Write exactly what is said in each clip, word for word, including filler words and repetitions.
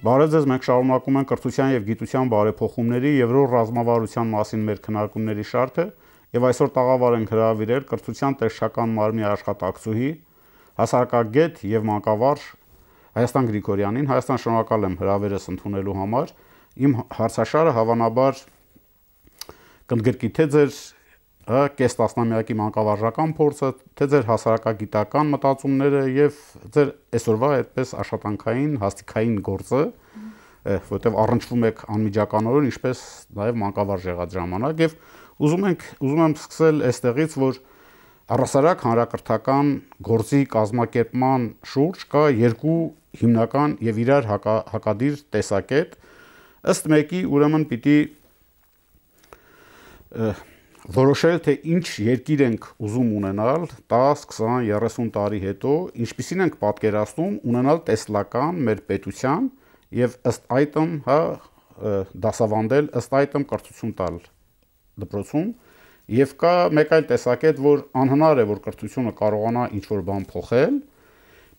Բարև ձեզ, մենք շարունակում ենք կրթության եւ գիտության բարեփոխումների եվրո ռազմավարության մասին մեր քննարկումների շարքը եւ այսօր տաղավար ենք հրավիրել կրթության տեսչական մարմնի աշխատակցուհի, հասարակագետ եւ մանկավարժ Հայաստան Գրիգորյանին։ Հայաստան, շնորհակալ եմ հրավերս ընդունելու համար։ Իմ հարցաշարը հավանաբար կընդգրկի թե ձեր կես տասնամյակի մանկավարժական փորձը, թե ձեր հասարակագիտական մտածումները եւ ձեր այսօրվա այդպես աշխատանքային, հաստիկային գործը, որտեղ առնչվում եք անմիջականորեն, ինչպես նաեւ մանկավարժ եղած ժամանակ եւ ուզում ենք ուզում եմ սկսել այստեղից, որ առհասարակ հանրակրթական գործի կազմակերպման շուրջ կա երկու հիմնական եւ իրար հակա, հակադիր տեսակետ, ըստ մեկի ուրեմն պիտի որոշել, թե ինչ երկիր ենք ուզում ունենալ տաս, քսան, երեսուն տարի հետո, ինչպիսին ենք պատկերացնում ունենալ տեսլական մեր պետության եւ ըստ այդմ, հա, դասավանդել, ըստ այդմ կրթություն տալ դպրոցում, եւ կա մեկ այլ տեսակետ, որ անհնար է, որ կրթությունը կարողանա ինչ-որ բան փոխել,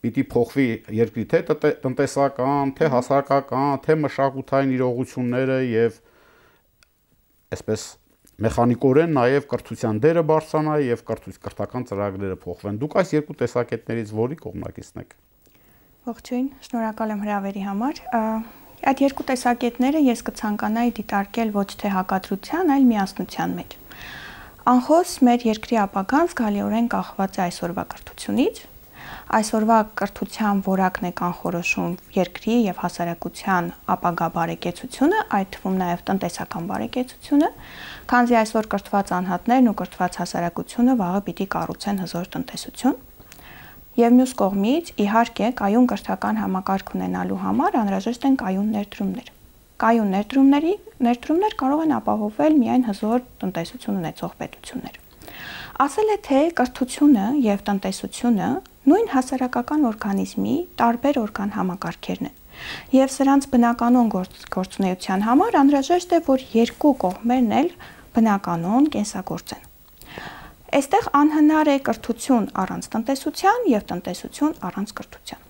պիտի փոխվի երկրի թե տնտեսական, թե հասարակական, թե մշակութային իրողությունները եւ այսպես մեխանիկորեն նաև կրթության դերը բարձրանա եւ կրթական ծրագրերը փոխվեն։ Դուք այս երկու տեսակետներից որի կողմնակիցն եք։ Ողջույն, շնորհակալ եմ հրավերի համար։ Այդ երկու տեսակետները ես կցանկանայի դիտարկել ոչ թե հակադրության, այլ միասնության մեջ։ Անխոս մեր երկրի ապագան զգալիորեն կախված է այսօրվա կրթությունից։ Այսօրվա կրթության որակն է կանխորոշում երկրի եւ հասարակության ապագա բարեկեցությունը, այդ թվում նաեւ տնտեսական բարեկեցությունը, քանզի այսօր կրթված անհատներն ու կրթված հասարակությունը վաղը պիտի կառուցեն հզոր տնտեսություն։ Եվ մյուս կողմից, իհարկե, կայուն կրթական համակարգ ունենալու համար անհրաժեշտ են կայուն ներդրումներ։ Կայուն ներդրումների ներդրումներ կարող են ապահովել միայն հզոր տնտեսություն ունեցող պետություններ։ Ասել է, թե կրթությունը եւ տնտեսությունը նույն հասարակական օրգանիզմի տարբեր օրգան համակարգերն են։ Եվ սրանց բնականոն գործունեության համար անհրաժեշտ է, որ երկու կողմերն էլ բնականոն կենսագործեն։ Այստեղ անհնար է կրթություն առանց տնտեսության եւ տնտեսություն առանց կրթության։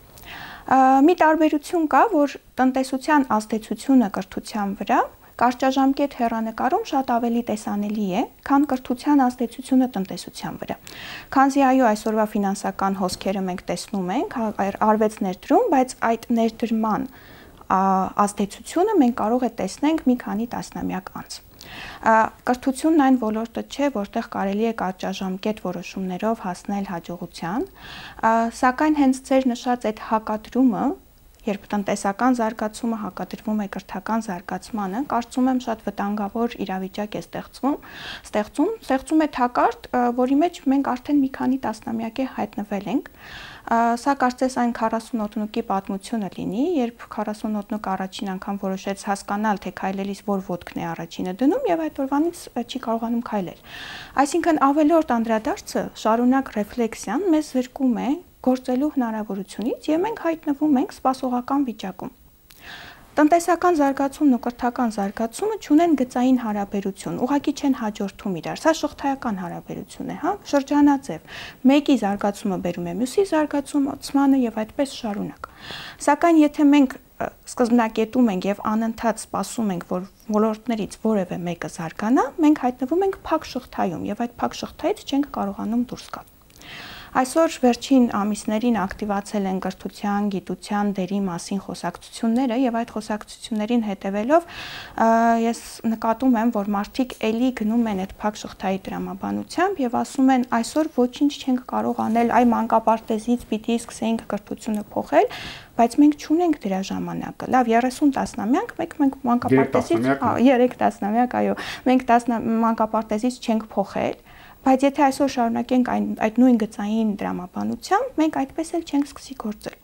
Մի տարբերություն կա, որ տնտեսության ազդեցությունը կրթության վրա կարճաժամկետ հեռանկարում շատ ավելի տեսանելի է, քան կրթության ազդեցությունը տնտեսության վրա։ Քանզի այո, այսօրվա ֆինանսական հոսքերը մենք տեսնում ենք, արվեց ներդրում, բայց այդ ներդրման ազդեցությունը մենք կարող է տեսնենք մի քանի տասնամյակ անց։ Կրթությունն այն ոլորտը չէ, որտեղ կարելի է կարճաժամկետ որոշումներով հասնել հաջողության, սակայն հենց ձեր նշած այդ հակադրումը, երբ տնտեսական զարգացումը հակադրվում է կրթական զարգացմանը, կարծում եմ շատ վտանգավոր իրավիճակ է ստեղծվում, ստեղծում, ստեղծում է թակարդ, որի մեջ մենք արդեն մի քանի տասնամյակ է հայտնվել ենք։ Սա կարծես այն քառասուն ոտնուկի պատմությունը լինի, երբ քառասուն ոտնուկ առաջին անգամ որոշեց հասկանալ, թե քայլելիս որ ոտքն է առաջինը դնում եւ այդ օրվանից չի կարողանում քայլել։ Այսինքն ավելորդ անդրադարձը, շարունակ ռեֆլեքսիան մեզ զրկում է գործելու հնարավորությունից եւ մենք հայտնվում ենք սպասողական վիճակում։ Տնտեսական զարգացումն ու կրթական զարգացումը չունեն գծային հարաբերություն, ուղղակի չեն հաջորդում իրար, սա շղթայական հարաբերություն է, հա, շրջանաձև։ Մեկի զարգացումը բերում է մյուսի զարգացումը եւ այդպես շարունակ։ Սակայն եթե մենք սկզբնակետում ենք եւ անընդհատ սպասում ենք, որ ոլորտներից որևէ մեկը զարգանա, մենք հայտնվում ենք փակ շղթայում եւ այդ փակ շղթայից չենք կարողանում դուրս գալ։ Այսօր վերջին ամիսներին ակտիվացել են կրթության, գիտության դերի մասին խոսակցությունները եւ այդ խոսակցություններին հետեւելով ես նկատում եմ, որ մարդիկ էլի գնում են այդ փակ շղթայի դրամաբանությամբ եւ ասում են այսօր ոչինչ չենք կարող անել, այ մանկապարտեզից պիտի սկսեինք կրթությունը փոխել, բայց մենք չունենք դրա ժամանակը։ Լավ, երեսուն տասնամյակ, մենք մենք մանկապարտեզից, երեք տասնամյակ, այո, մենք մանկապարտեզից չենք փոխել։ Բայց եթե այսօր շարունակենք այն այդ նույն գծային դրամաբանությամբ, մենք այդպես էլ չենք սկսի գործել։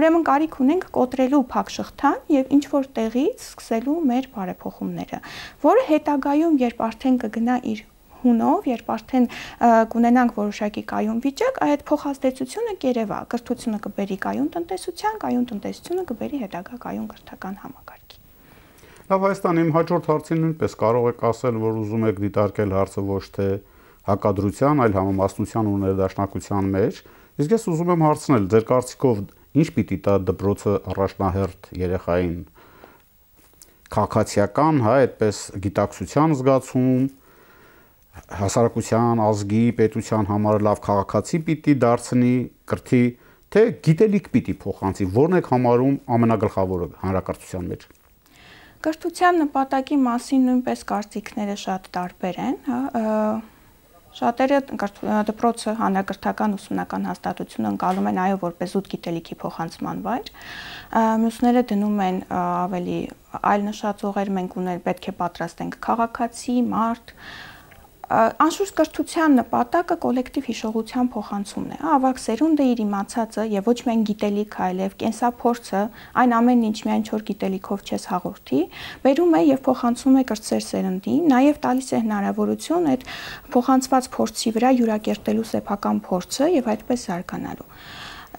Ուրեմն կարիք ունենք կոտրելու փակ շղթան եւ ինչ որ տեղից սկսելու մեր բարեփոխումները, որը հետագայում, երբ արդեն կգնա իր հունով, երբ արդեն կունենանք որոշակի կայուն վիճակ, այդ փոխազդեցությունը կերևա, կրթությունը կբերի կայուն տնտեսության, կայուն տնտեսությունը կբերի հետագա կայուն կրթական համակարգի։ Լավ, Հայաստան, իմ հաջորդ հարցին նույնպես կարող եք ասել, որ ուզում եք դիտարկել հարցը ոչ թե հակադրության, այլ համամասնության ու ներդաշնակության մեջ, իսկ ես ուզում եմ հարցնել, ձեր կարծիքով ինչ պիտի տա դպրոցը առաջնահերթ երեխային քաղաքացիական, հա, այդպես գիտակցության զգացում, հասարակության, ազգի, պետության համար լավ քաղաքացի պիտի դարձնի, կրթի, թե գիտելիք պիտի փոխանցի, որն եք համարում ամենագլխավորը հանրակրթության մեջ։ Կրթության նպատակի մասին նույնպես կարծիքները շատ տարբեր են, հա, շատերը դպրոցը հանրակրթական ուսումնական հաստատությունը ընկալում են այո որպես զուտ գիտելիքի փոխանցման վայր, մյուսները դնում են ավելի այլ նշածողեր, մենք ուներ պետք է պատրաստենք քաղաքացի, մարդ, անշուշտ կրթության նպատակը կոլեկտիվ հիշողության փոխանցումն է, ավագ սերունդը իր իմացածը եւ ոչ միայն գիտելիք, այլև կենսափորձը, այն ամենն ինչ միայն չոր գիտելիքով չես հաղորդի, բերում է եւ փոխանցում է կրտսեր սերնդին, նաեւ տալիս է հնարավորություն այդ փոխանցված փորձի վրա յուրակերտելու սեփական փորձը եւ այդպես զարգանալու։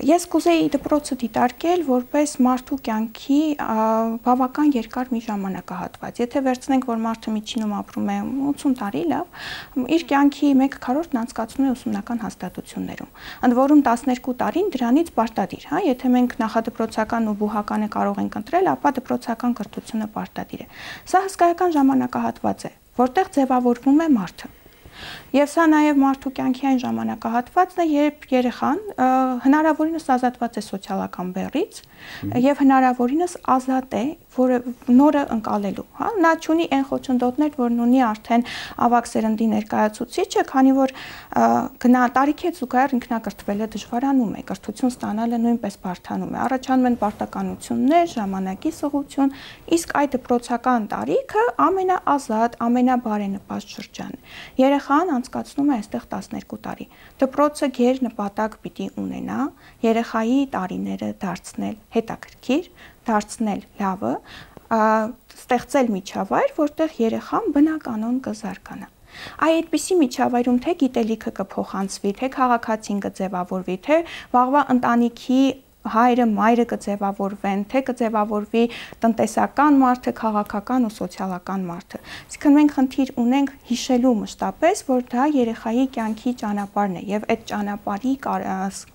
Ես կուզեի դպրոցը դիտարկել որպես մարդու կյանքի բավական երկար մի ժամանակահատված։ Եթե վերցնենք, որ մարդը միջինում ապրում է ութսուն տարի, լավ, իր կյանքի մեկ քառորդն անցկացնում է ուսումնական հաստատություններում, ընդ որում տասներկու տարին դրանից պարտադիր, հա, եթե մենք նախադպրոցական ու բուհականը կարող ենք ընտրել, ապա դպրոցական կրթությունը պարտադիր է։ Սա հսկայական ժամանակահատված է, որտեղ ձևավորվում է մարդը։ Եվ սա նաև մարդու կյանքի այն ժամանակահատվածն է, երբ երեխան հնարավորինս ազատված է սոցիալական բեռից եւ հնարավորինս ազատ է, որը նորը ընկալելու, հա, նա ունի այն խոչընդոտներ, որն ունի արդեն ավագ սերնդի ներկայացուցիչը, քանի որ գնա տարիքի զուգահեռ ինքնակրթվելը դժվարանում է, կրթություն ստանալը նույնպես բարդանում է, առաջանում են պարտականություններ, ժամանակի սղություն, իսկ այդ դպրոցական տարիքը ամենաազատ, ամենաբարենպաստ շրջանն է։ Երեխան անցկացնում է այստեղ տասներկու տարի։ Դպրոցը գեր նպատակ պիտի ունենա երեխայի տարիները դարձնել հետաքրքիր, դարձնել լավը, ստեղծել միջավայր, որտեղ երեխան բնականon կզարգանա։ Այ այդպիսի միջավայրում թե գիտելիքը կփոխանցվի, թե քաղաքացին կձևավորվի, թե վաղվա ընտանիքի հայրը, մայրը կձևավորվեն, թե կձևավորվի տնտեսական մարդը, քաղաքական ու սոցիալական մարդը։ Այսինքն մենք խնդիր ունենք հիշելու մշտապես, որ դա երեխայի կյանքի ճանապարհն է եւ այդ ճանապարհի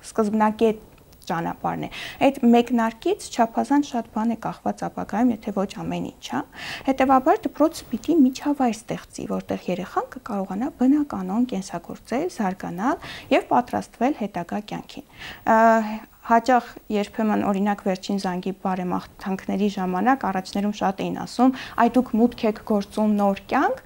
սկզբնակետ ճանապարհն է։ Այդ մեկնարկից չափազանց շատ բան է կախված ապագայում, եթե ոչ ամեն ինչ, հա։ Հետևաբար դպրոցը պիտի միջավայր ստեղծի, որտեղ երեխան կկարողանա բնականon կենսագործել, զարգանալ եւ պատրաստվել հետագա կյանքին։ Հաճախ երբեմն օրինակ վերջին զանգի բարեմաղթանքների ժամանակ առաջներում շատ էին ասում, այ դուք մուտք եք գործում նոր կյանք,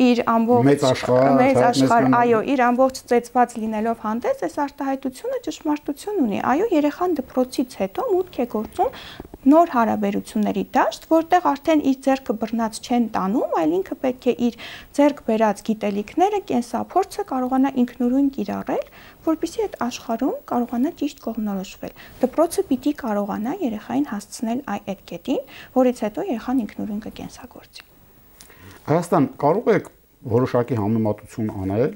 իր ամբողջ մեծ աշխարհ, մեծ աշխարհ, այո, իր ամբողջ ծեծված լինելով հանդես, այս արտահայտությունը ճշմարտություն ունի։ Այո, երեխան դպրոցից հետո մուտք է գործում նոր հարաբերությունների դաշտ, որտեղ արդեն իր ձեռքը բռնած չեն տանում, այլ ինքը պետք է իր ձեռք բերած գիտելիքները, կենսափորձը կարողանա ինքնուրույն կիրառել, որպեսզի այդ աշխարհում կարողանա ճիշտ կողմնորոշվել։ Դպրոցը պիտի կարողանա երեխային հասցնել այդ կետին, որից հետո երեխան ինքնուրույն կկենսագործի։ Հայաստան, կարող եք որոշակի համեմատություն անել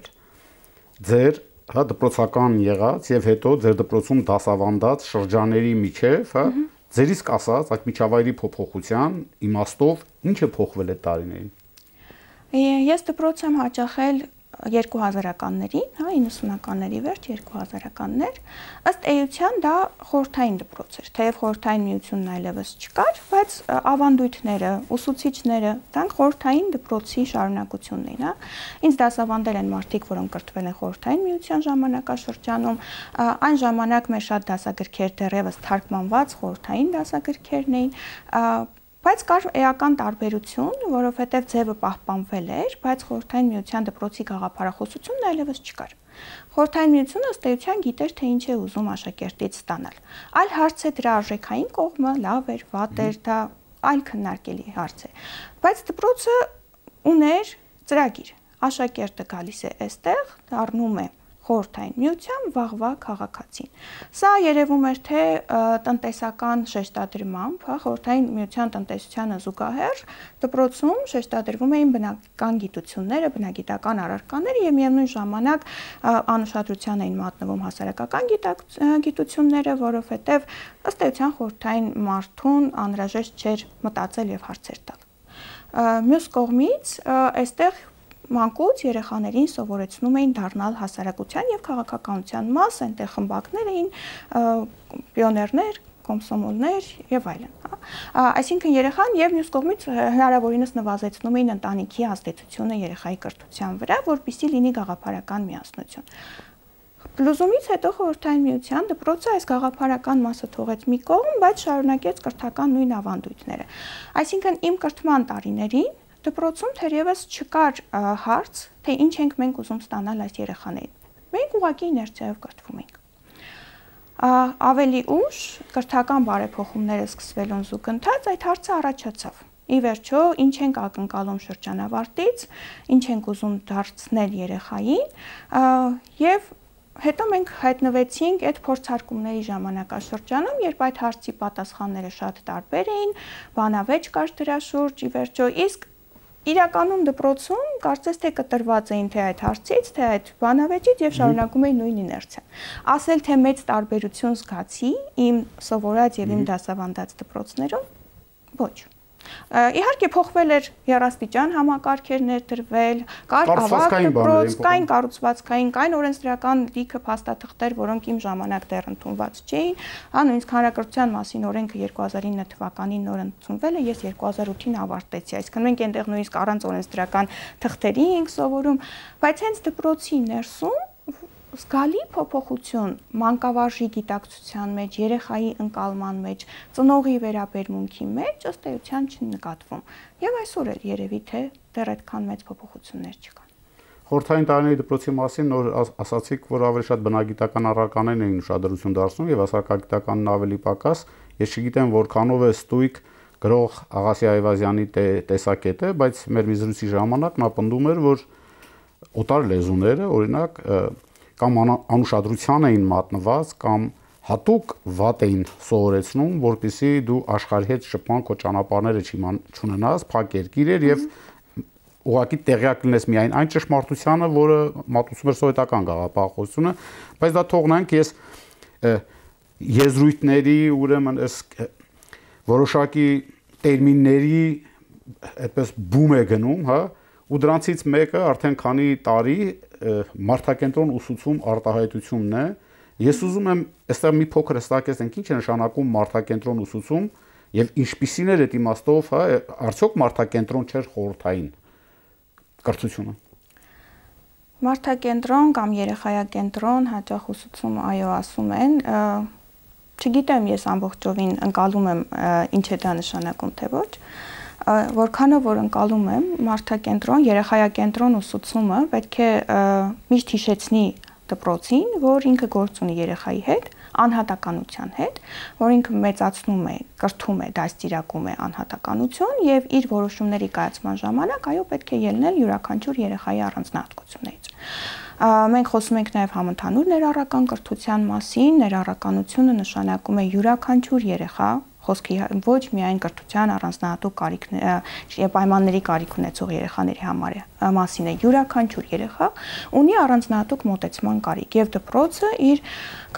ձեր հա դպրոցական եղած եւ հետո ձեր դպրոցում դասավանդած շրջանների միջև, հա, ձերիսկ ասած այդ միջավայրի փոփոխության իմաստով ինչ է փոխվել այդ տարիներին։ Ես դպրոց եմ հաճախել երկու հազարականներին, հա, իննսունականների վերջ երկու հազարականներ, ըստ էության դա խորհրդային դպրոց էր, թեև խորհրդային միությունն այլևս չկար, բայց ավանդույթները, ուսուցիչները, դրանք խորհրդային դպրոցի շարունակությունն էին, հա։ Ինձ դասավանդել են մարդիկ, որոնք կրթվել են խորհրդային միության ժամանակաշրջանում, այն ժամանակ մեր շատ դասագրքեր դեռևս թարգմանված խորհրդային դասագրքերն էին, բայց կար էական տարբերություն, որովհետև ձևը պահպանվել էր, բայց խորհրդային միության դպրոցի գաղափարախոսությունն այլևս չկար։ Խորհրդային միությունը ըստ էության գիտեր, թե ինչ է ուզում աշակերտից ստանալ։ Այլ հարց է դրա արժեքային կողմը, լավ էր, վատ էր, դա այլ քննարկելի հարց է։ Բայց դպրոցը ուներ ծրագիր։ Աշակերտը գալիս է այստեղ, դառնում է խորհրդային միության վաղվա քաղաքացին։ Սա երևում էր թե տնտեսական շեշտադրմամբ, հա, խորհրդային միության տնտեսությանը զուգահեռ դպրոցում շեշտադրվում էին բնական գիտությունները, բնագիտական առարկաները եւ միևնույն ժամանակ անուշադրության էին մատնվում հասարակական գիտությունները, որովհետեւ ըստ էության խորհրդային մարդուն անհրաժեշտ չէր մտածել եւ հարցեր տալ։ Մյուս կողմից այստեղ մանկուց երեխաներին սովորեցնում էին դառնալ հասարակության եւ քաղաքականության մաս, այնտեղ խմբակներ էին, պիոներներ, կոմսոմոլներ եւ այլն, հա։ Այսինքն երեխան եւ մյուս կողմից հնարավորինս նվազեցնում էին ընտանիքի ազդեցությունը երեխայի կրթության վրա, որպեսզի լինի գաղափարական միասնություն։ Պլուզումից հետո Խորհրդային Միության դպրոցը այս գաղափարական մասը թողեց մի կողմ, բայց շարունակեց կրթական նույն ավանդույթները։ Այսինքն իմ կրթման տարիներին դպրոցում թերևս չկար հարց, թե ինչ ենք մենք ուզում ստանալ այս երեխաներին։ Մենք ուղղակի իներցիայով կրթվում ենք։ Ավելի ուշ կրթական բարեփոխումները սկսվելուն զուգընթաց այդ հարցը առաջացավ։ Ի վերջո, ինչ ենք ակնկալում շրջանավարտից, ինչ ենք ուզում դարձնել երեխային, եւ հետո մենք հայտնվեցինք այդ փորձարկումների ժամանակաշրջանում, երբ այդ հարցի պատասխանները շատ տարբեր էին, բանավեճ կար դրա շուրջ, ի վերջո, իսկ իրականում դպրոցում կարծես թե կտրված էին թե այդ հարցից, թե այդ բանավեճից եւ շարունակում էին նույն իներցիան։ Ասել թե մեծ տարբերություն զգացի իմ սովորած եւ իմ դասավանդած դպրոցներում, ոչ։ Իհարկե փոխվել էր երաստիճան համակարգեր ներդրվել, կար ավագ դպրոց, կային կառուցվածքային, կային օրենսդրական լիքը փաստաթղթեր, որոնք իմ ժամանակ դեռ ընդունված չէին, հա նույնիսկ հանրակրթության մասին օրենքը երկու հազար ինը թվականին նոր ընդունվել է, ես երկու հազար ութին ավարտեցի, այսինքն մենք այնտեղ նույնիսկ առանց օրենսդրական թղթերի ենք սովորում, բայց հենց դպրոցի ներսում զգալի փոփոխություն մանկավարժի գիտակցության մեջ, երեխայի ընկալման մեջ, ծնողի վերաբերմունքի մեջ ըստ էության չնկատվում։ Եվ այսօր էլ երևի թե դեռ այդքան մեծ փոփոխություններ չկան։ Խորհրդային տարիների դպրոցի մասին նոր ասացիք, որ ավելի շատ բնագիտական առարկաներն էին ուշադրություն դարձնում եւ հասարակագիտականն ավելի պակաս։ Ես չգիտեմ որքանով է ստույգ գրող Աղասի Այվազյանի տեսակետը, բայց մեր մի զրույցի ժամանակ նա պնդում էր, որ օտար լեզուները, օրինակ, կամ անուշադրության էին մատնված, կամ հատուկ վատ էին սովորեցնում, որպեսզի դու աշխարհի հետ շփման քո ճանապարհները չունենաս, փակ երկիր էր եւ ուղղակի տեղյակ լինես միայն այն ճշմարտությանը, որը մատուցում էր սովետական գաղափարախոսությունը, բայց դա թողնանք, ես եզրույթների, ուրեմն այս որոշակի տերմինների այդպես բում է գնում, հա, ու դրանցից մեկը արդեն քանի տարի մարդակենտրոն ուսուցում արտահայտությունն է։ Ես ուզում եմ այստեղ մի փոքր հստակեցնենք ինչ է նշանակում մարդակենտրոն ուսուցում եւ ինչպիսին էր այդ իմաստով, հա, արդյոք մարդակենտրոն չէր խորհրդային կրթությունը։ Մարդակենտրոն կամ երեխայակենտրոն հաճախ ուսուցում այո ասում են, չգիտեմ ես ամբողջովին ընկալում եմ ինչ է դա նշանակում թե ոչ, որքանով որ ընկալում եմ մարդակենտրոն, երեխայակենտրոն ուսուցումը պետք է միշտ հիշեցնի դպրոցին, որ ինքը գործ ունի երեխայի հետ, անհատականության հետ, որ ինքը մեծացնում է, կրթում է, դաստիարակում է անհատականություն եւ իր որոշումների կայացման ժամանակ այո պետք է ելնել յուրաքանչյուր երեխայի առանձնահատկություններից։ Մենք խոսում ենք նաեւ համընդհանուր ներառական կրթության մասին, ներառականությունը նշանակում է յուրաքանչյուր երեխա խոսքի ոչ միայն կրթության առանձնահատուկ կարիքների պայմանների կարիք ունեցող երեխաների համար մասին է, յուրաքանչյուր երեխա ունի առանձնահատուկ մոտեցման կարիք եւ դպրոցը իր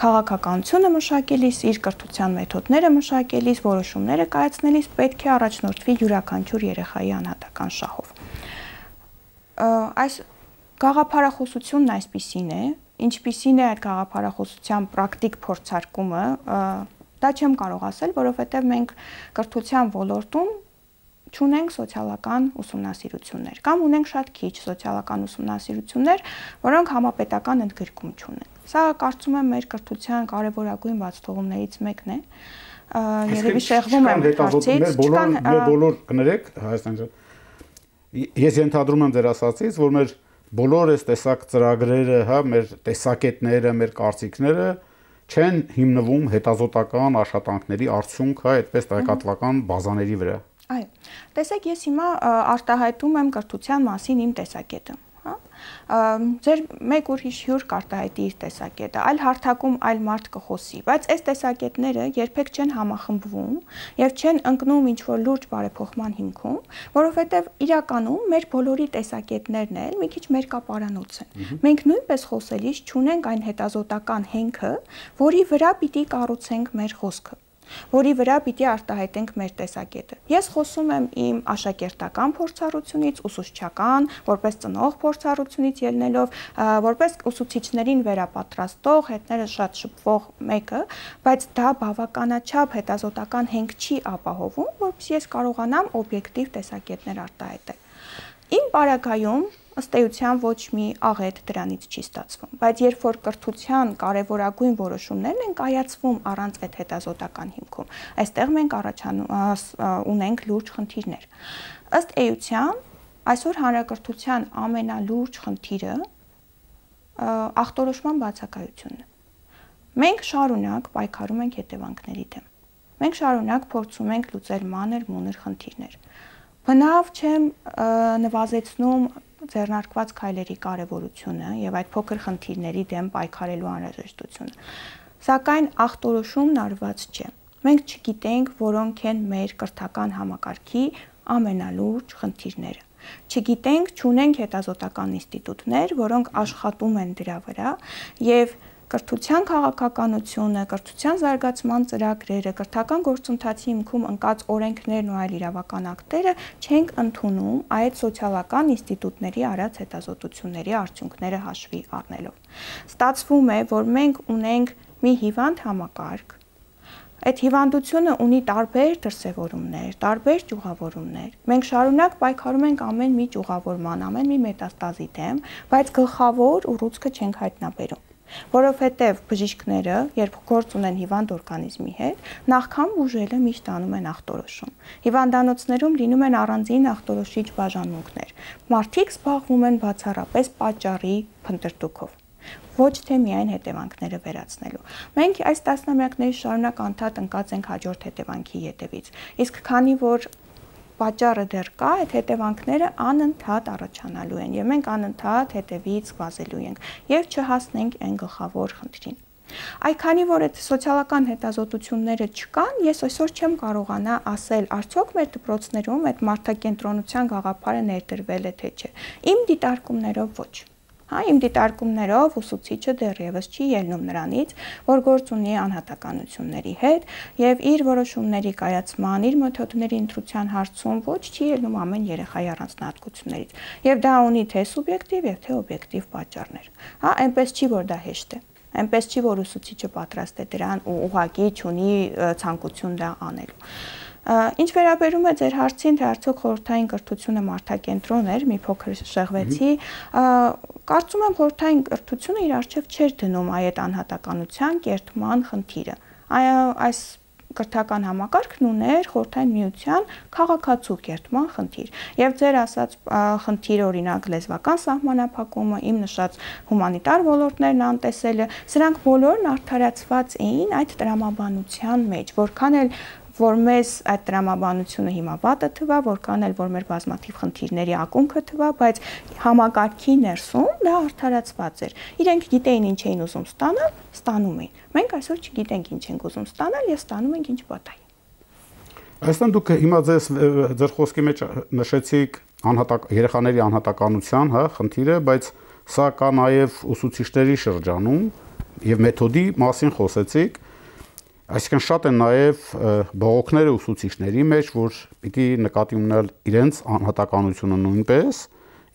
քաղաքականությունը մշակելիս, իր կրթության մեթոդները մշակելիս, որոշումները կայացնելիս պետք է առաջնորդվի յուրաքանչյուր երեխայի անհատական շահով։ Այս գաղափարախոսությունն այսպիսին է, ինչպիսին է այդ գաղափարախոսության պրակտիկ փորձարկումը, դա չեմ կարող ասել, որովհետև մենք կրթության ոլորտում չունենք սոցիալական ուսումնասիրություններ կամ ունենք շատ քիչ սոցիալական ուսումնասիրություններ, որոնք համապետական ընդգրկում չունեն։ Սա կարծում եմ մեր կրթության կարևորագույն բացթողումներից մեկն է։ Երևի շեղվում եմ հարցից, չկան մեր բոլոր կներեք Հայաստան։ Ես ենթադրում եմ ձեր ասածից, որ մեր բոլոր այս տեսակ ծրագրերը, հա, մեր տեսակետները, մեր կարծիքները չեն հիմնվում հետազոտական աշխատանքների արդյունք, հա, այդպես տեղեկատվական բազաների վրա։ Այո։ Տեսեք, ես հիմա արտահայտում եմ կրթության մասին իմ տեսակետը, հա։ Ձեր մեկ ուրիշ հյուր կարտահայտի իր տեսակետը, այլ հարթակում այլ մարդ կխոսի, բայց այս տեսակետները երբեք չեն համախմբվում եւ չեն ընկնում ինչ-որ լուրջ բարեփոխման հիմքում, որովհետեւ իրականում մեր բոլորի տեսակետներն էլ մի քիչ մերկապարանոց են։ Մենք նույնպես խոսելիս չունենք այն հետազոտական հենքը, որի վրա պիտի կառուցենք մեր խոսքը։ որի վրա պիտի արտահայտենք մեր տեսակետը։ Ես խոսում եմ իմ աշակերտական փորձառությունից, ուսուցչական, որպես ծնող փորձառությունից ելնելով, որպես ուսուցիչներին վերապատրաստող, հետները շատ շփվող մեկը, բայց դա բավականաչափ հետազոտական հենք չի ապահովում, որպեսզի ես կարողանամ օբյեկտիվ տեսակետներ արտահայտել։ Իմ պարագայում ըստ էության ոչ մի աղետ դրանից չի ստացվում, բայց երբ որ կրթության կարևորագույն որոշումներն են կայացվում առանց այդ հետազոտական հիմքում, այստեղ մենք առաջանում ունենք լուրջ խնդիրներ։ Ըստ էության, այսօր հանրակրթության ամենալուրջ խնդիրը ախտորոշման բացակայությունն է։ Մենք շարունակ պայքարում ենք հետևանքների դեմ։ Մենք շարունակ փորձում ենք լուծել մանր մունր խնդիրներ։ Բնավ չեմ նվազեցնում ձեռնարկված քայլերի կարևորությունը եւ այդ փոքր խնդիրների դեմ պայքարելու անհրաժեշտությունը։ Սակայն ախտորոշումն արված չէ։ Մենք չգիտենք, որոնք են մեր կրթական համակարգի ամենալուրջ խնդիրները։ Չգիտենք, չունենք հետազոտական ինստիտուտներ, որոնք աշխատում են դրա վրա եւ կրթության քաղաքականությունը, կրթության զարգացման ծրագրերը, կրթական գործընթացի հիմքում ընկած օրենքներն ու այլ իրավական ակտերը չենք ընդունում այդ սոցիալական ինստիտուտների արած հետազոտությունների արդյունքները հաշվի առնելով։ Ստացվում է, որ մենք ունենք մի հիվանդ համակարգ, այդ հիվանդությունը ունի տարբեր դրսևորումներ, տարբեր ճյուղավորումներ։ Մենք շարունակ պայքարում ենք ամեն մի ճյուղավորման, ամեն մի մետաստազի դեմ, բայց գլխավոր ուռուցքը չենք հայտնաբերում։ Որովհետև բժիշկները, երբ գործ ունեն հիվանդ օրգանիզմի հետ, նախքան բուժելը միշտ անում են ախտորոշում։ Հիվանդանոցներում լինում են առանձին ախտորոշիչ բաժանմունքներ։ Մարդիկ զբաղվում են բացառապես պատճառի փնտրտուքով, ոչ թե միայն հետևանքները վերացնելու։ Մենք այս տասնամյակների շարունակ անդադ ընկած ենք հաջորդ հետևանքի ետևից։ Իսկ քանի որ պատճառը դեռ կա, այդ հետևանքները անընդհատ առաջանալու են եւ մենք անընդհատ հետևից վազելու ենք եւ չհասնենք այն գլխավոր խնդրին։ Այ քանի որ այդ սոցիալական հետազոտությունները չկան, ես այսօր չեմ կարողանա ասել, արդյոք մեր դպրոցներում այդ մարդակենտրոնության գաղափարը ներդրվել է թե չէ։ Իմ դիտարկումներով ոչ։ Հա, իմ դիտարկումներով ուսուցիչը դեռևս չի ելնում նրանից, որ գործ ունի անհատականությունների հետ եւ իր որոշումների կայացման, իր մեթոդների ընտրության հարցում ոչ չի ելնում ամեն երեխայի առանձնահատկություններից։ Եվ դա ունի թե սուբյեկտիվ եւ թե օբյեկտիվ պատճառներ։ Հա, այնպես չի, որ դա հեշտ է։ Այնպես չի, որ ուսուցիչը պատրաստ է դրան ու ուղղակի չունի ցանկություն դա անելու։ Ինչ վերաբերում է ձեր հարցին, թե արդյոք խորհրդային կրթությունը մարդակենտրոն էր, մի փոքր շեղվեցի, կարծում եմ խորհրդային կրթությունը իր առջև չէր դնում այդ անհատականության կերտման խնդիրը։ Այս կրթական համակարգն ուներ խորհրդային միության քաղաքացու կերտման խնդիր։ Եվ ձեր ասած խնդիրը, օրինակ լեզվական սահմանափակումը, իմ նշած հումանիտար ոլորտներն անտեսելը, սրանք բոլորն արդարացված էին այդ տրամաբանության մեջ, որքան էլ որ մեզ այդ տրամաբանությունը հիմա վատը թվա, որքան էլ որ մեր բազմաթիվ խնդիրների ակունքը թվա, բայց համակարգի ներսում դա արդարացված էր։ Իրենք գիտեին ինչ էին ուզում ստանալ, ստանում էին։ Մենք այսօր չգիտենք ինչ ենք ուզում ստանալ եւ ստանում ենք ինչ պատահի։ Այստեղ դուք հիմա ձեզ ձեր խոսքի մեջ նշեցիք անհատակ երեխաների անհատականության, հա, խնդիրը, բայց սա կա նաեւ ուսուցիչների շրջանում եւ մեթոդի մասին խոսեցիք։ Այսինքն շատ են նաև բողոքները ուսուցիչների մեջ, որ պիտի նկատի ունենալ իրենց անհատականությունը նույնպես,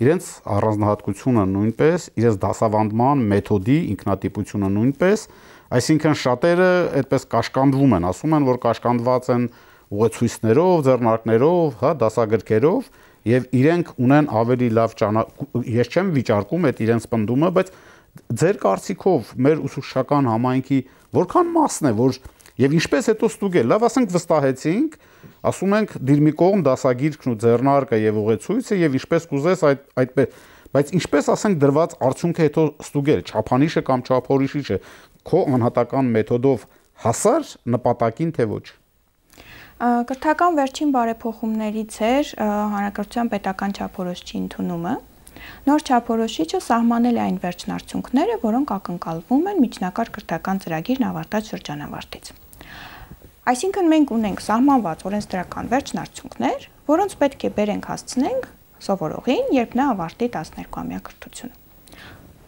իրենց առանձնահատկությունը նույնպես, իրենց դասավանդման մեթոդի ինքնատիպությունը նույնպես, այսինքն շատերը այդպես կաշկանդվում են, ասում են, որ կաշկանդված են ուղեցույցներով, ձեռնարկներով, հա, դասագրքերով եւ իրենք ունեն ավելի լավ ճանաչում, ես չեմ վիճարկում այդ իրենց պնդումը, բայց ձեր կարծիքով մեր ուսուցչական համայնքի որքան մասն է, որ Եվ ինչպես հետո ստուգել, լավ ասենք վստահեցինք, ասում ենք դիր մի կողմ դասագիրքն ու ձեռնարկը եւ ուղեցույցը եւ ինչպես կուզես այդ այդպես, բայց ինչպես ասենք դրված արդյունքը հետո ստուգել, չափանիշը կամ չափորիշիչը քո անհատական մեթոդով հասար նպատակին թե ոչ։ Կրթական վերջին բարեփոխումներից էր հանրակրթության պետական չափորոշիչի ընդունումը։ Նոր չափորոշիչը սահմանել է այն վերջնարդյունքները, որոնք ակնկալվում են միջնակարգ կրթական ծրագիրն ավարտած շրջանավարտից։ Այսինքն մենք ունենք սահմանված օրենսդրական վերջնարդյունքներ, որոնց պետք է բերենք հասցնենք սովորողին, երբ նա ավարտի տասներկուամյա կրթությունը։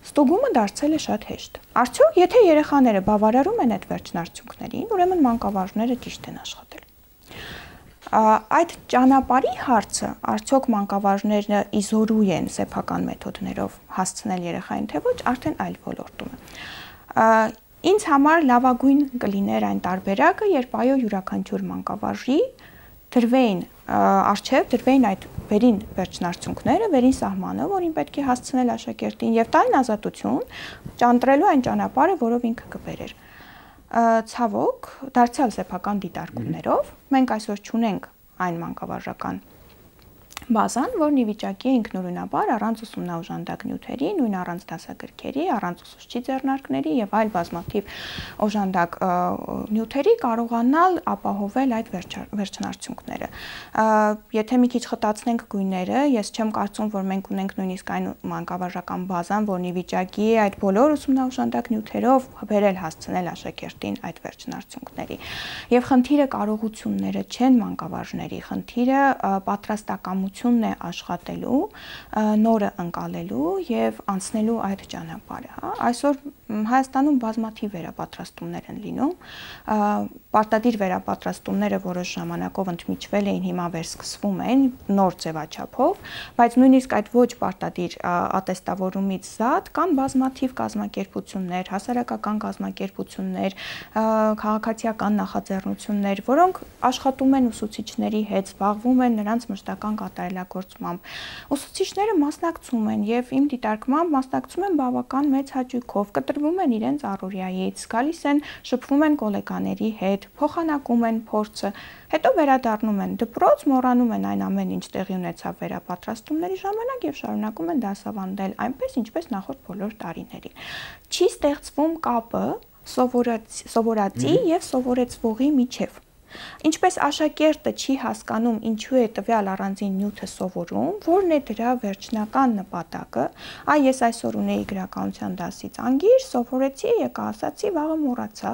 ստուգումը դարձել է շատ հեշտ։ Արդյոք, եթե երեխաները բավարարում են այդ վերջնարդյունքներին, ուրեմն մանկավարժները ճիշտ են աշխատել։ Այդ ճանապարհի հարցը, արդյոք մանկավարժները իզորու են սեփական մեթոդներով հասցնել երեխային, թե ոչ, արդեն այլ ոլորտում է։ Ինձ համար լավագույն կլիներ այն տարբերակը, երբ այո յուրաքանչյուր մանկավարժի դրվեին արժև դրվեին այդ վերին վերջնարդյունքները, վերին սահմանը, որին պետք է հասցնել աշակերտին եւ տալին ազատություն ճանտրելու այն ճանապարհը, որով ինքը կբերեր։ Ցավոք, դարձյալ սեփական դիտարկումներով մենք այսօր չունենք այն մանկավարժական բազան, որն ի վիճակի է ինքնուրույնաբար առանց ուսումնաօժանդակ նյութերի, նույն առանց դասագրքերի, առանց ուսուցչի ձեռնարկների եւ այլ բազմաթիվ օժանդակ նյութերի կարողանալ ապահովել այդ վերջնարդյունքները։ Եթե մի քիչ խտացնենք գույները, ես չեմ կարծում, որ մենք ունենք նույնիսկ այն մանկավարժական բազան, որն ի վիճակի է այդ բոլոր ուսումնաօժանդակ նյութերով բերել հասցնել աշակերտին այդ վերջնարդյունքների։ Եվ խնդիրը կարողությունները չեն մանկավարժների, խնդիրը պատրաստակամությունն է աշխատելու, նորը ընկալելու եւ անցնելու այդ ճանապարհը, հա։ Այսօր Հայաստանում բազմաթիվ վերապատրաստումներ են լինում, պարտադիր վերապատրաստումները որոշ ժամանակով ընդմիջվել էին, հիմա վերսկսվում են նոր ձևաչափով, բայց նույնիսկ այդ ոչ պարտադիր ատեստավորումից զատ կան բազմաթիվ կազմակերպություններ, հասարակական կազմակերպություններ, քաղաքացիական նախաձեռնություններ, որոնք աշխատում են ուսուցիչների հետ, զբաղվում են նրանց մշտական կատարելագործմամբ։ Ուսուցիչները մասնակցում են եւ իմ դիտարկմամբ մասնակցում են բավական մեծ հաճույքով, կտրվում են իրենց առօրյայից, գալիս են, շփվում են գոլեգաների հետ, փոխանակում են փորձը, հետո վերադառնում են դպրոց, մոռանում են այն ամեն ինչ տեղի ունեցավ վերապատրաստումների ժամանակ եւ շարունակում են դասավանդել այնպես, ինչպես նախորդ բոլոր տարիներին։ Չի ստեղծվում կապը սովորածի եւ սովորեցվողի միջեւ։ Ինչպես աշակերտը չի հասկանում ինչու է տվյալ առանձին նյութը սովորում, որն է դրա վերջնական նպատակը, այ ես այսօր ունեի գրականության դասից անգիր, սովորեցի, եկա ասացի, վաղը մոռացա,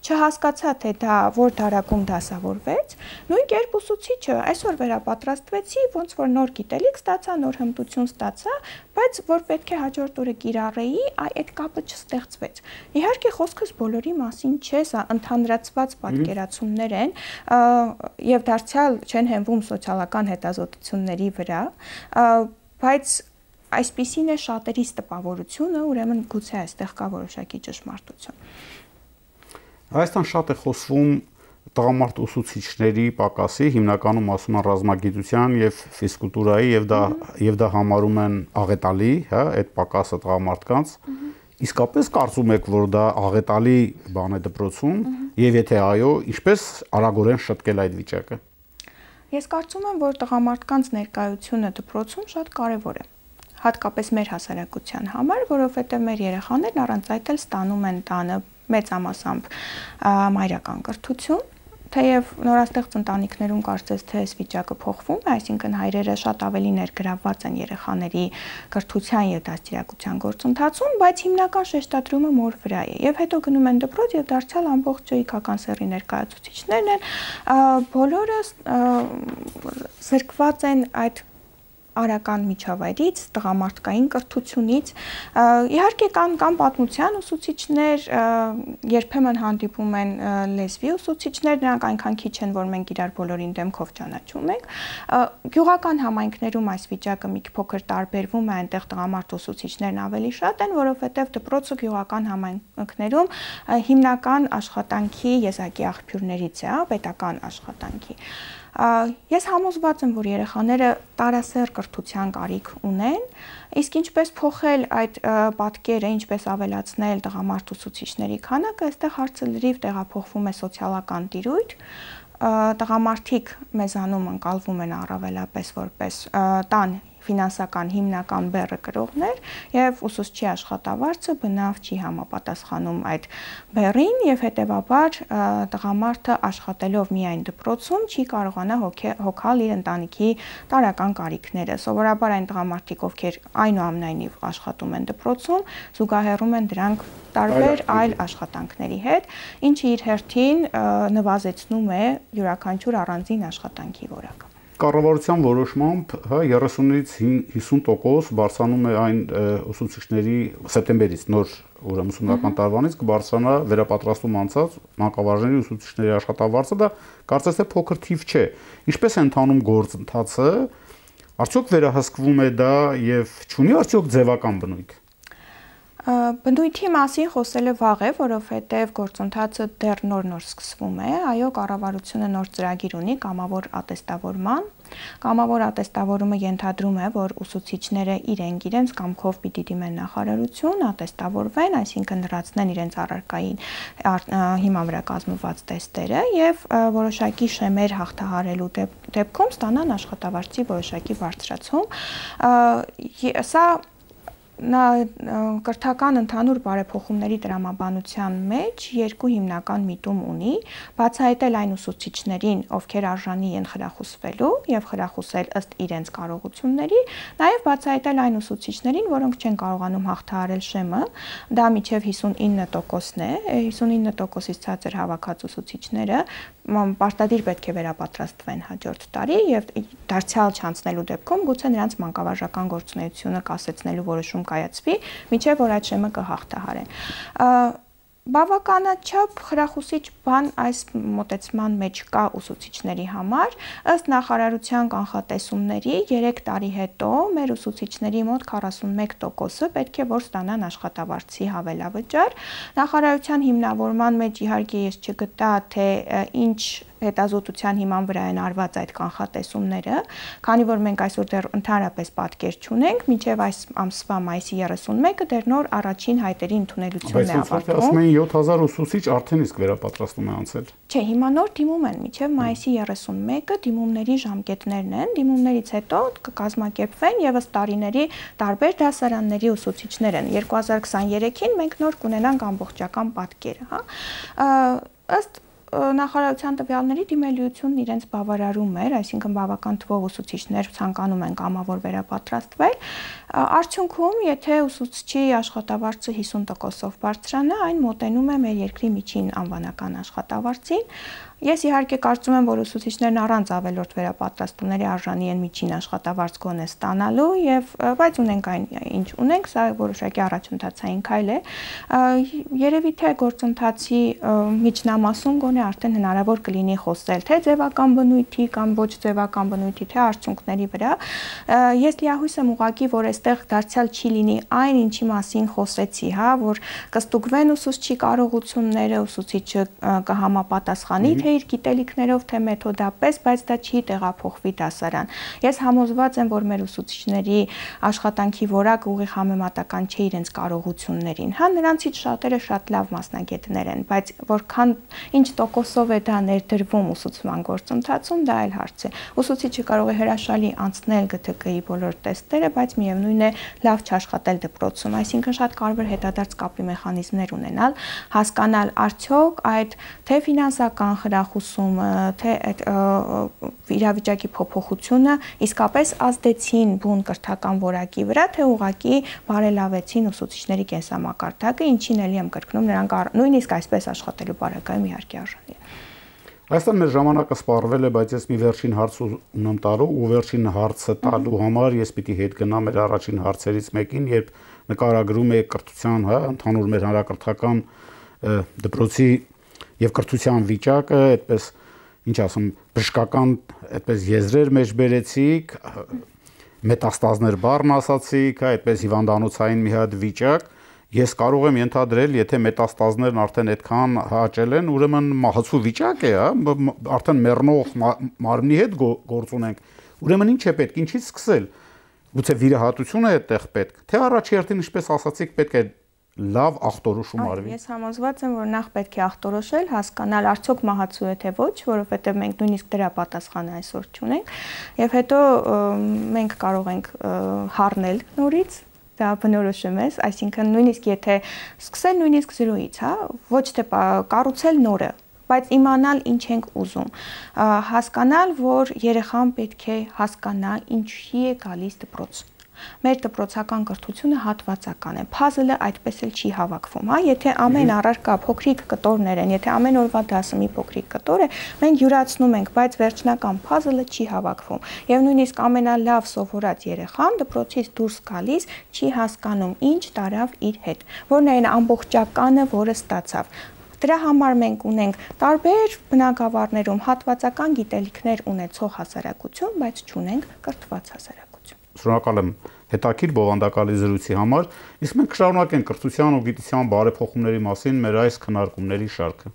չհասկացա, թե դա որ դարակում դասավորվեց, նույն կերպ ուսուցիչը այսօր վերապատրաստվեցի, ոնց որ նոր գիտելիք ստացա, նոր հմտություն ստացա, բայց որ պետք է հաջորդ օրը կիրառեի, այ այդ կապը չստեղծվեց։ Իհարկե խոսքս բոլորի մասին չէ, սա ընդհանրացված պատկերացումներ են եւ դարձյալ չեն հենվում սոցիալական հետազոտությունների վրա, բայց այսպիսին է շատերիս տպավորությունը, ուրեմն գուցե այստեղ կա որոշակի ճշմարտություն։ Հայաստան շատ է խոսվում տղամարդ ուսուցիչների պակասի, հիմնականում ասում են ռազմագիտության եւ ֆիզկուլտուրայի եւ դա եւ դա համարում են աղետալի, հա, այդ պակասը տղամարդկանց։ Իսկապես կարծում եք, որ դա աղետալի բան է դպրոցում եւ եթե այո, ինչպես արագորեն շտկել այդ վիճակը։ Ես կարծում եմ, որ տղամարդկանց ներկայությունը դպրոցում շատ կարեւոր է, հատկապես մեր հասարակության համար, որովհետեւ մեր երեխաներն առանց այդ էլ ստանում են տանը մեծամասամբ մայրական կրթություն, թեև նորաստեղծ ընտանիքներում կարծես թե այս վիճակը փոխվում է, այսինքն հայրերը շատ ավելի ներգրավված են երեխաների կրթության եւ դաստիարակության գործընթացում, բայց հիմնական շեշտադրումը մոր վրա է։ Եվ հետո գնում են դպրոց եւ դարձյալ ամբողջ իքական սեռի ներկայացուցիչներն են, բոլորը զրկված են այդ արական միջավայրից, տղամարդկային կրթությունից, իհարկե կան կան պատմության ուսուցիչներ, երբեմն հանդիպում են լեզվի ուսուցիչներ, նրանք այնքան քիչ են, որ մենք իրար բոլորին դեմքով ճանաչում ենք։ Գյուղական համայնքներում այս վիճակը մի փոքր տարբերվում է, այնտեղ տղամարդ ուսուցիչներն ավելի շատ են, որովհետև դպրոցը գյուղական համայնքներում հիմնական աշխատանքի եզակի աղբյուրներից է, պետական աշխատանքի։ Ես համոզված եմ, որ երեխաները տարասեռ կրթության կարիք ունեն, իսկ ինչպես փոխել այդ պատկերը, ինչպես ավելացնել տղամարդ ուսուցիչների քանակը, այստեղ հարցը լրիվ տեղափոխվում է սոցիալական տիրույթ, տղամարդիկ մեզանում ընկալվում են առավելապես որպես տան ֆինանսական հիմնական բեռը կրողներ եւ ուսուցչի աշխատավարձը բնավ չի համապատասխանում այդ բեռին եւ հետեւաբար տղամարդը աշխատելով միայն դպրոցում չի կարողանա հոգալ իր ընտանիքի տարրական կարիքները։ Սովորաբար այն տղամարդիկ, ովքեր այնուամենայնիվ աշխատում են դպրոցում, զուգահեռում են դրանք տարբեր այլ աշխատանքների հետ, ինչը իր հերթին նվազեցնում է յուրաքանչյուր առանձին աշխատանքի որակը։ Կառավարության որոշմամբ, հա, երեսունից հիսուն տոկոս բարձրանում է այն ուսուցիչների սեպտեմբերից նոր ուրեմն ուսումնական տարվանից կբարձրանա վերապատրաստում անցած մանկավարժների ուսուցիչների աշխատավարձը, դա կարծես թե փոքր թիվ չէ։ Ինչպես է ընթանում գործընթացը, արդյոք վերահսկվում է դա եւ չունի արդյոք ձևական բնույթ։ Բնույթի մասին խոսելը վաղ է, որովհետև գործընթացը դեռ նոր-նոր սկսվում է, այո, կառավարությունը նոր ծրագիր ունի կամավոր ատեստավորման։ Կամավոր ատեստավորումը ենթադրում է, որ ուսուցիչները իրենք իրենց կամքով պիտի դիմեն նախարարություն, ատեստավորվեն, այսինքն լրացնեն իրենց առարկային հիման վրա կազմված տեստերը եւ որոշակի շեմեր հաղթահարելու դեպքում ստանան աշխատավարձի որոշակի բարձրացում։ Սա Նա կրթական ընդհանուր բարեփոխումների տրամաբանության մեջ երկու հիմնական միտում ունի, բացահայտել այն ուսուցիչներին, ովքեր արժանի են խրախուսվելու եւ խրախուսել ըստ իրենց կարողությունների, նաեւ բացահայտել այն ուսուցիչներին, որոնք չեն կարողանում հաղթահարել շեմը, դա մինչեւ հիսունինը տոկոսն է, հիսունինը տոկոսից ցածր հավաքած ուսուցիչները պարտադիր պետք է վերապատրաստվեն հաջորդ տարի եւ դարձյալ չանցնելու դեպքում գուցե նրանց մանկավարժական գործունեությունը կասեցնելու որոշում կայացվի, մինչև որ այդ շեմը կհաղթահարեն։ Բավականաչափ խրախուսիչ բան այս մոտեցման մեջ կա ուսուցիչների համար, ըստ նախարարության կանխատեսումների երեք տարի հետո մեր ուսուցիչների մոտ քառասունմեկ տոկոսը պետք է որ ստանան աշխատավարձի հավելավճար։ Նախարարության հիմնավորման մեջ իհարկե ես չգտա, թե ինչ հետազոտության հիման վրա են արված այդ կանխատեսումները, քանի որ մենք այսօր դեռ ընդհանրապես պատկեր չունենք, մինչև այս ամսվա մայիսի երեսունմեկը դեռ նոր առաջին հայտերի ընդունելությունն է ավարտվում։ Ասում են յոթ հազար ուսուցիչ արդեն իսկ վերապատրաստում է անցել։ Չէ, հիմա նոր դիմում են, մինչև մայիսի երեսունմեկը դիմումների ժամկետներն են, դիմումներից հետո կկազմակերպվեն եւս տարիների տարբեր դասարանների ուսուցիչներ են։ երկու հազար քսաներեքին մենք նոր կունենանք ամբողջական պատկերը, հա։ Ըստ նախարարության տվյալների դիմելիությունն իրենց բավարարում էր, այսինքն բավական թվով ուսուցիչներ ցանկանում են կամավոր վերապատրաստվել։ Արդյունքում, եթե ուսուցչի աշխատավարձը հիսուն տոկոսով բարձրանա, այն մոտենում է մեր երկրի միջին անվանական աշխատավարձին։ Ես իհարկե կարծում եմ, որ ուսուցիչներն առանց ավելորդ վերապատրաստումների արժանի են միջին աշխատավարձ գոնե ստանալու եւ բայց ունենք այն ինչ ունենք, սա որոշակի առաջընթացային քայլ է։ Երևի թե գործընթացի միջնամասում գոնե արդեն հնարավոր կլինի խոսել թե ձևական բնույթի կամ ոչ ձևական բնույթի, թե արդյունքների վրա։ Ես լիահույս եմ ուղղակի, որ այստեղ դարձյալ չի լինի այն ինչի մասին խոսեցի, հա, որ կստուգվեն ուսուցչի կարողությունները, ուսուցիչը կհամապատասխանի թե իր գիտելիքներով, թե մեթոդապես, բայց դա չի տեղափոխվի դասարան։ Ես համոզված եմ, որ մեր ուսուցիչների աշխատանքի որակը ուղիղ համեմատական չէ իրենց կարողություններին։ Հա, նրանցից շատերը շատ լավ մասնագետներ են, բայց որքան ինչ տոկոսով է դա ներդրվում ուսուցման գործընթացում, դա այլ հարց է։ Ուսուցիչը կարող է հրաշալի անցնել Գ Թ Կ-ի բոլոր տեստերը, բայց միևնույն է լավ չաշխատել դպրոցում, այսինքն շատ կարևոր հետադարձ կապի մեխանիզմներ ունենալ, հասկանալ արդյոք այդ թե ֆինանսական խրախուսումը, թե այդ իրավիճակի փոփոխությունը իսկապես ազդեցին բուն կրթական որակի վրա, թե ուղղակի բարելավեցին ուսուցիչների կենսամակարդակը, ինչին էլի եմ կրկնում, նրանք նույնիսկ այսպես աշխատելու բարակայում իհարկե արժանի է։ Այստեղ մեր ժամանակը սպառվել է, բայց ես մի վերջին հարց ունեմ տալու ու վերջին հարցը տալու համար ես պիտի հետ գնամ մեր առաջին հարցերից մեկին, երբ նկարագրում է կրթության, հա, ընդհանուր մեր հանրակրթական դպրոցի եւ կրթության վիճակը, այդպես ինչ ասում, բժշկական այդպես եզրեր մեջ բերեցիք, մետաստազներ բառն ասացիք, այդպես հիվանդանոցային մի հատ վիճակ։ Ես կարող եմ ենթադրել, եթե մետաստազներն արդեն այդքան հաճել են, ուրեմն մահացու վիճակ է, հա, արդեն մեռնող մարմնի հետ գործ ունենք։ Ուրեմն ինչ է պետք, ինչից սկսել։ Գուցե վիրահատություն է այդտեղ պետք, թե առաջի հերթին, ինչպես ասացիք, պետք է լավ ախտորոշում արվի։ Ես համոզված եմ, որ նախ պետք է ախտորոշել, հասկանալ արդյոք մահացու է թե ոչ, որովհետև մենք նույնիսկ դրա պատասխանը այսօր չունենք, եւ հետո մենք կարող ենք հառնել նորից դա բնորոշում է, այսինքն նույնիսկ եթե սկսել նույնիսկ զրոյից, հա, ոչ թե կառուցել նորը, բայց իմանալ ինչ ենք ուզում, հասկանալ, որ երեխան պետք է հասկանա ինչի է գալիս դպրոց, Մեր դպրոցական կրթությունը հատվածական է։ Puzzle-ը այդպես էլ չի հավաքվում, հա, եթե ամեն առարկա փոքրիկ կտորներ են, եթե ամեն օրվա դասը մի փոքրիկ կտոր է, մենք յուրացնում ենք, բայց վերջնական puzzle-ը չի հավաքվում։ Եվ նույնիսկ ամենալավ սովորած երեխան դպրոցից դուրս գալիս չի հասկանում ինչ տարավ իր հետ, որն է այն ամբողջականը, որը ստացավ։ Դրա համար մենք ունենք տարբեր բնագավառներում հատվածական գիտելիքներ ունեցող հասարակություն, բայց չունենք կրթված հասարակություն։ Շնորհակալ եմ հետաքրքիր բովանդակալի զրույցի համար, իսկ մենք կշարունակենք կրթության ու գիտության բարեփոխումների մասին մեր այս քննարկումների շարքը։